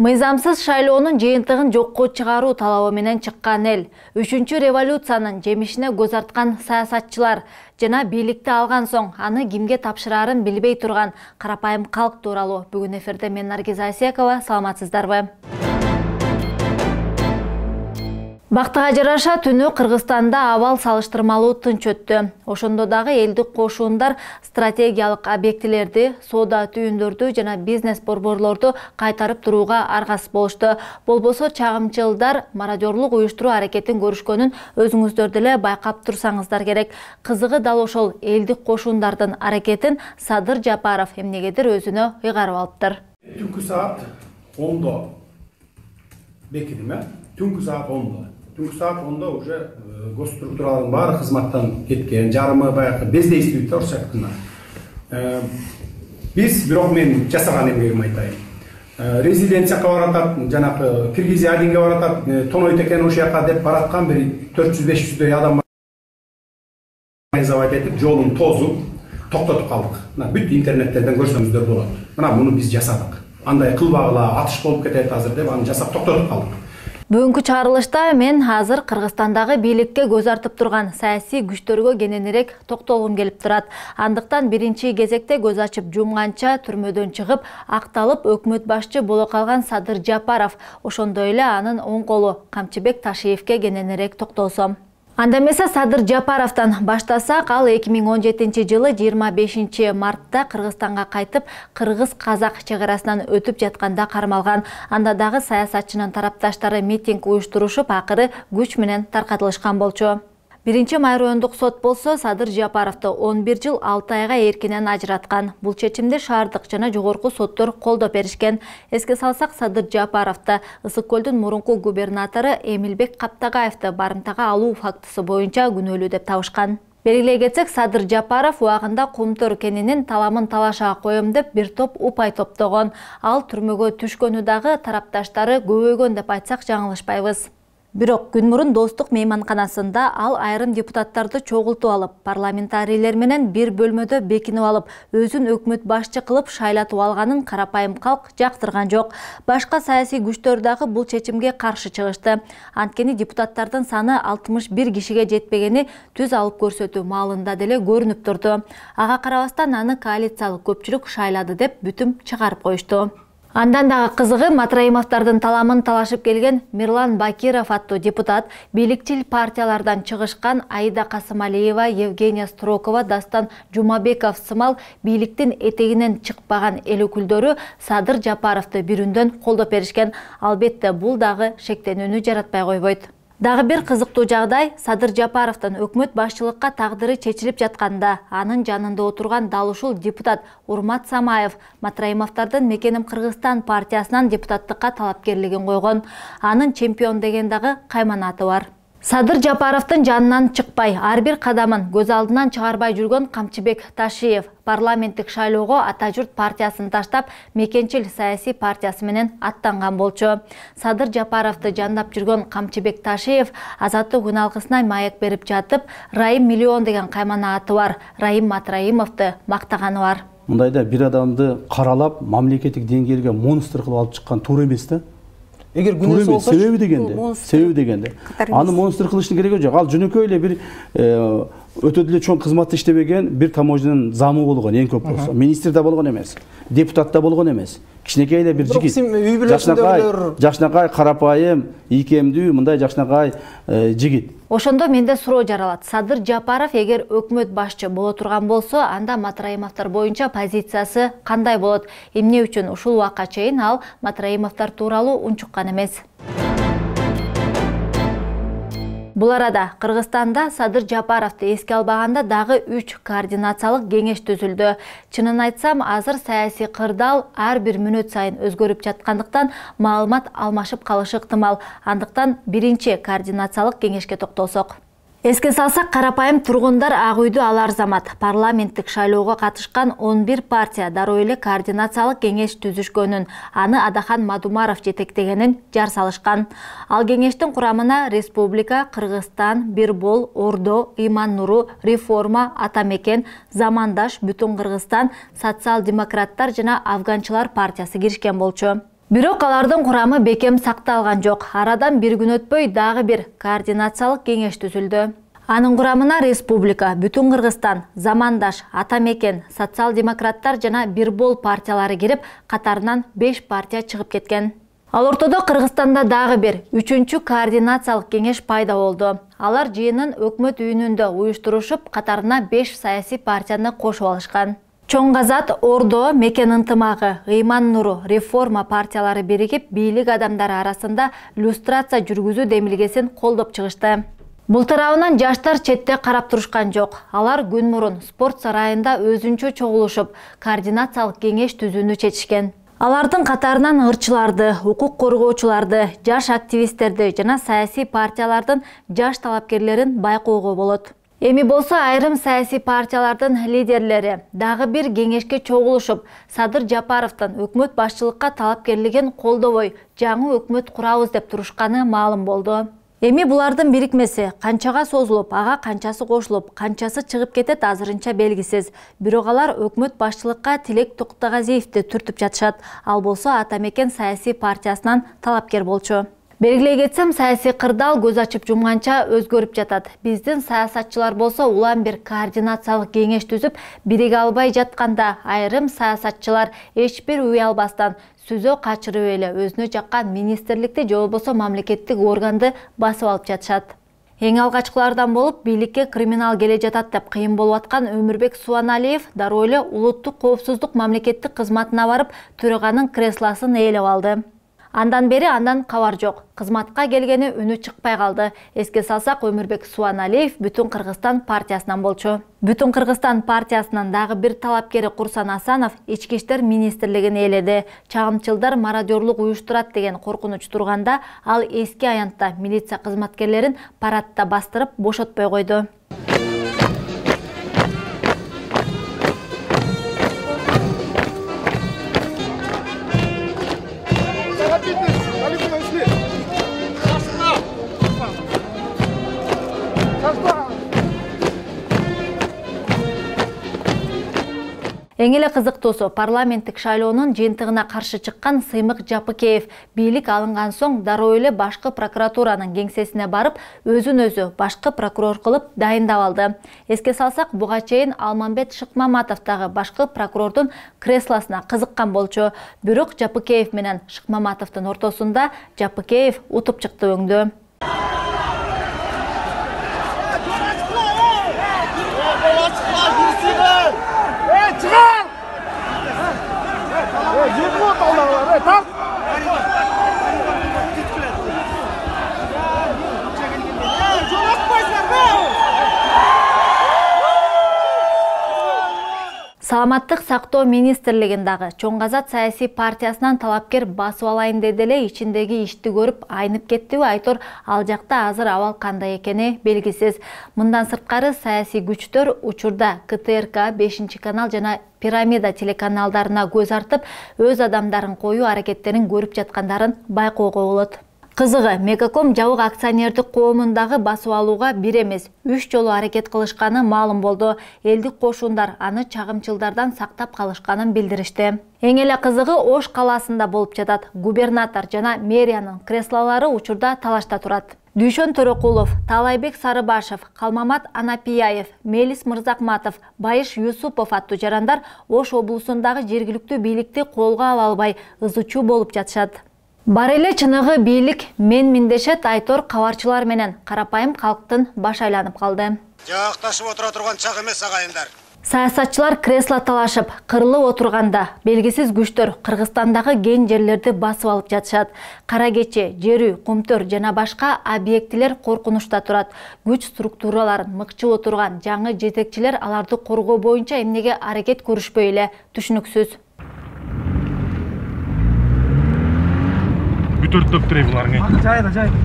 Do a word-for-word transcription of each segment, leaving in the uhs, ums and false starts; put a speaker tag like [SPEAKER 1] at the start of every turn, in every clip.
[SPEAKER 1] Мыйзамсыз шайлоонун жыйынтыгын жокко чыгаруу талабы менен чыккан эл, үчүнчү революциянын жемишине көз арткан саясатчылар жана бийликти алган соң аны кимге тапшырарын билбей турган карапайым калк тууралуу бүгүн эфирде мен Наргиз Айсекова. Саламатсыздарбы? Бактыга жараша түнү Кыргызстанда абал салыштырмалуу тынч өттү. Ошондо дагы элдик кошуундар стратегиялык объектилерди, соода түйүндөрдү жана бизнес борборлорду кайтарып турууга аргасыз болушту. Болбосо чагымчылдар мародёрлук уюштуруу аракетин көрүшкөнүн өзүңүздөр деле байкап турсаңыздар керек. Кызыгы дал ошол элдик кошуундардын аракетин Садыр Жапаров эмнегедир өзүнө ыйгарып алыптыр.
[SPEAKER 2] Түнкү саат ондо бекидим, э? Түнкү саат ондо. Түнкү саат ондо уже госструктуралардын баары кызматтан кеткен, жарымы баягы бездействуйт орусча айтканда. Биз бирок мен жасаган эмгегимди айтайын. Резиденцияга баратат, жанагы Киргизия Адинге баратат, тонойт экен ошол жака деп бараткан бир төрт жүз беш жүздөй адам организовать этип, жолун тосуп, токтотуп калдык. Мына бүт интернеттерден көрсөңүздөр болот. Мына муну биз жасадык. Андай кылбагыла атыш болуп кетет азыр деп аны жасап токтотуп калдык.
[SPEAKER 1] Бүгүнкү чыгарылышта мен азыр Кыргызстандагы бийликке көз артып турган саясий күчтөргө кененирээк токтолгум келип турат. Андыктан биринчи кезекте көз ачып жумганча түрмөдөн чыгып, акталып өкмөт башчы боло калган Садыр Жапаров, ошондой эле анын оң колу Камчыбек Ташиевке кененирээк токтолсом. Анда эмесе Садыр Жапаровдон баштасак, ал эки миң он жетинчи жылы жыйырма бешинчи мартта Кыргызстанга кайтып, кыргыз-казак чек арасынан өтүп жатканда кармалган. Анда дагы саясатчынын тарапташтары митинг уюштурушуп, акыры күч менен таркатылышкан болчу. Биринчи майроондук сот болсо Садыр Жапаровду он бир жыл алты айга эркинен ажыраткан. Бул чечимди шаардык жана жогорку соттор колдоп беришкен. Эске салсак, Садыр Жапаровду Ысык көлдүн мурунку губернатору Эмилбек Каптагаевди барымтага алуу фактысы боюнча күнөөлүү деп табышкан. Белгилей кетсек, Садыр Жапаров убагында Кумтөр кенинин таламын талашага коем деп бир топ упай топтогон. Ал түрмөгө түшкөнү дагы тарапташтары көбөйгөн деп айтсак жаңылышпайбыз. Бирок күн мурун Достук мейманканасында ал айрым депутаттарды чогултуп алып, парламентарийлер менен бир бөлмөдө бекинип алып, өзүн өкмөт башчы кылып шайлатып алганын карапайым калк жактырган жок. Башка саясий күчтөр дагы бул чечимге каршы чыгышты. Анткени депутаттардын саны алтымыш бир кишиге жетпегени түз алып көрсөтүү маалында деле көрүнүп турду. Ага карабастан аны коалициялык көпчүлүк шайлады деп бүтүм чыгарып коюшту. Андан дагы кызыгы, Матраимовдордун таламын талашып келген Мирлан Бакиров аттуу депутат бийликчил партиялардан чыгышкан Аида Касымалиева, Евгения Строкова, Дастан Жумабеков сымал бийликтин этегинен чыкпаган эл өкүлдөрү Садыр Жапаровду бирүндөн колдоп беришкен. Албетте, бул дагы шектенүүнү жаратпай койбойт. Дагы бир кызыктуу жагдай, Садыр Жапаровдун өкмөт башчылыкка тагдыры чечилип жатканда, анын жанында отурган дал ушул депутат Урмат Самаев Матраимовдордун Мекеним Кыргызстан партиясынан депутаттыкка талапкерлигин койгон. Анын чемпион деген дагы кайманаты бар. Садыр Жапаровдун жанынан чыкпай, ар бир кадамын көз алдынан чыгарбай жүргөн Камчыбек Ташиев парламенттик шайлоого Ата журт партиясын таштап, Мекенчил саясий партиясы менен аттанган болчу. Садыр Жапаровду жандап жүргөн Камчыбек Ташиев азаттык күн алкысына маек берип жатып, Райым миллион деген каймана аты бар, Райым Матраимовду мактаганы бар.
[SPEAKER 3] Мындайда бир адамды каралап, мамлекеттик деңгээлге монстр кылып алып чыккан туура эмес да. Эгер күнөөсү болсо, себеби дегенде, себеби дегенде. Аны монстр кылыштын кереги жок. Ал жөнөкөй эле бир өтө деле чоң кызматта иштебеген бир таможнянын замы болгон, эң көп болсо. Министр да болгон эмес, депутат да болгон эмес. Кичинекей эле бир жигит. Жашнакай, жашнакай карапайым, ийкемдүү, мындай жашнакай жигит.
[SPEAKER 1] Ошондо менде суроо жаралат. Садыр Жапаров эгер өкмөт башчы боло турган болсо, анда Матраимовдор боюнча позициясы кандай болот? Эмне үчүн ушул убакка чейин ал Матраимовдор тууралуу унчуккан эмес? Бул арада Кыргызстанда Садыр Жапаровду эске албаганда дагы үч координациялык кеңеш түзүлдү. Чынын айтсам, азыр саясий кырдаал ар бир мүнөт сайын өзгөрүп жаткандыктан маалымат алмашып калышы ыктымал. Андыктан биринчи координациялык кеңешке токтолсок. Эске салсак, карапайым тургундар Ак үйдү алар замат парламенттик шайлоого катышкан он бир партия дароо эле координациялык кеңеш түзүшкөнүн, аны Адахан Мадумаров жетектегенин жар салышкан. Ал кеңештин курамына Республика, Кыргызстан, Бирбол, Ордо, Иман Нуру, Реформа, Ата Мекен, Замандаш, Бүтүн Кыргызстан, Социал-демократтар жана Афганчылар партиясы киришкен болчу. Бирок алардын курамы бекем сакталган жок. Арадан бир күн өтпөй дагы бир координациялык кеңеш түзүлдү. Анын курамына республика, Бүтүн Кыргызстан, Замандаш, Ата Мекен, социал-демократтар жана Бирбол партиялары кирип, катарынан беш партия чыгып кеткен. Ал ортодо Кыргызстанда дагы бир үчүнчү координациялык кеңеш пайда болду. Алар жыйынын өкмөт үйүнүндө уюштурушуп, катарына беш саясий партияны кошуп алышкан. Чоң Казат, Ордо, Мекен ынтымагы, Ыйман Нуру, Реформа партиялары биригип, бийлик адамдары арасында люстрация жүргүзүү демилгесин колдоп чыгышты. Бул тарабынан жаштар четте карап турушкан жок. Алар күн мурун спорт сарайында өзүнчө чогулушуп, координациялык кеңеш түзүүнү чечишкен. Алардын катарынан ырчыларды, укук коргоочуларды, жаш активисттерди жана саясий партиялардын жаш талапкерлерин байкоого болот. Эми болсо айрым саясий партиялардын лидерлери дагы бир кеңешке чогулушуп, Садыр Жапаровдун өкмөт башчылыкка талапкерлигин колдобой, жаңы өкмөт курабыз деп турушканы маалым болду. Эми булардын бирикмеси канчага созулуп, ага канчасы кошулуп, канчасы чыгып кетет азырынча белгисиз. Бирок алар өкмөт башчылыкка Тилек Токтогазиевди түртүп жатышат. Ал болсо Ата Мекен саясий партиясынан талапкер болчу. Белгилей кетсем, саясий кырдаал көз ачып жумганча өзгөрүп жатат. Биздин саясатчылар болсо улам бир координациялык кеңеш түзүп, бириге албай жатканда айрым саясатчылар эч бир уй албастан сүзө качырып эле өзүнө жаккан министрликти же болбосо мамлекеттик органды басып алып жатышат. Эң алгачкылардан болуп, бийликке криминал келе жатат деп кыйын болуп аткан Өмүрбек Суаналиев дароо эле улуттук коопсуздук мамлекеттик кызматына барып, төраганын креслосын ээлеп алды. Андан бери андан кабар жок. Кызматка келгени үнү чыкпай калды. Эске салсак, Өмүрбек Суаналиев Бүтүн Кыргызстан партиясынан болчу. Бүтүн Кыргызстан партиясынан дагы бир талапкери Курсан Асанов ички иштер министрлигин ээледи. Чагымчылдар мародёрлук уюштурат деген коркунуч турганда, ал эски аянтта милиция кызматкерлерин парадта бастырып бошотпой койду. Эң эле кызыктуусу, парламенттик шайлоонун жыйынтыгына каршы чыккан Сыймык Жапыкеев бийлик алынган соң дароо эле башкы прокуратуранын кеңсесине барып, өзүн өзү башкы прокурор кылып дайындап алды. Эске салсак, буга чейин Алмамбет Шыкмаматов дагы башкы прокурордун креслосуна кызыккан болчу. Бирок Жапыкеев менен Шыкмаматовдун ортосунда Жапыкеев утуп чыкты өңдү. Саламаттык сактоо министрлигин дагы Чоң Казат саясий партиясынан талапкер басып алайын деди эле, ичиндеги ишти көрүп айнып кеттиби айтор, ал жакта азыр абал кандай экени белгисиз. Мындан сырткары саясий күчтөр учурда К Т Р К, бешинчи канал жана Пирамида телеканалдарына көз артып, өз адамдарын коюу аракеттерин көрүп жаткандарын байкоого болот. Кызыгы, Мегаком жабык акционердик коомундагы басып алууга бир эмес, үч жолу аракет кылышканы маалым болду. Элдик кошундар аны чагымчылдардан сактап калышканын билдиришти. Эң эле кызыгы Ош калаасында болуп жатат. Губернатор жана мэриянын креслолору учурда талашта турат. Дүйшөн Төрөкулов, Таалайбек Сарыбашев, Калмамат Анапияев, Мелис Мырзакматов, Байыш Юсупов аттуу жарандар Ош облусундагы жергиликтүү бийликти колго ала албай ызычуу болуп жатышат. Бар эле чыныгы бийлик мен миндешет айтор кабарчылар менен карапайым калктын баш айланып калды.
[SPEAKER 4] Жакташып отура турган чак эмес агайындар.
[SPEAKER 1] Саясатчылар кресло талашып, кырылып отурганда белгисиз күчтөр Кыргызстандагы кен жерлерди басып алып жатышат. Кара кече, жер үй, кумтөр жана башка объектилер коркунучта турат. Күч структураларын мыкчып отурган жаңы жетекчилер аларды коргоо боюнча эмнеге аракет көрүшпөй эле түшүнүксүз.
[SPEAKER 5] Бүтөртөп турай буларың.
[SPEAKER 6] Жайда, жайда.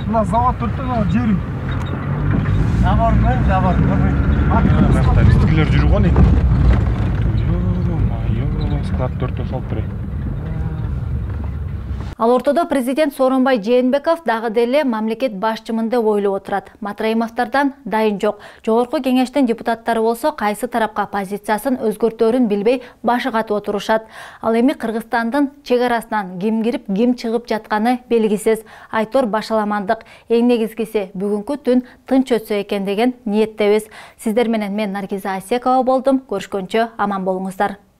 [SPEAKER 6] Мына завод төрттөн жер үй. Жабармы, жабармы.
[SPEAKER 5] Мына биздикилер жүрүп калды. Йоо, майо, склад төрттөн салып турай.
[SPEAKER 1] Ал ортодо президент Сооронбай Жээнбеков дагы деле мамлекет башчымын деп ойлоп отурат. Матраимовдордон дайын жок. Жогорку кеңештин депутаттары болсо кайсы тарапка позициясын өзгөртөөрүн билбей башы катып отурушат. Ал эми Кыргызстандын чек арасынан ким кирип, ким чыгып жатканы белгисиз. Айтор башаламандык. Эң негизгиси бүгүнкү түн тынч өтсө экен деген ниеттебиз. Сиздер менен мен Наргиза Асекова болдум. Көрүшкөнчө аман болуңуздар.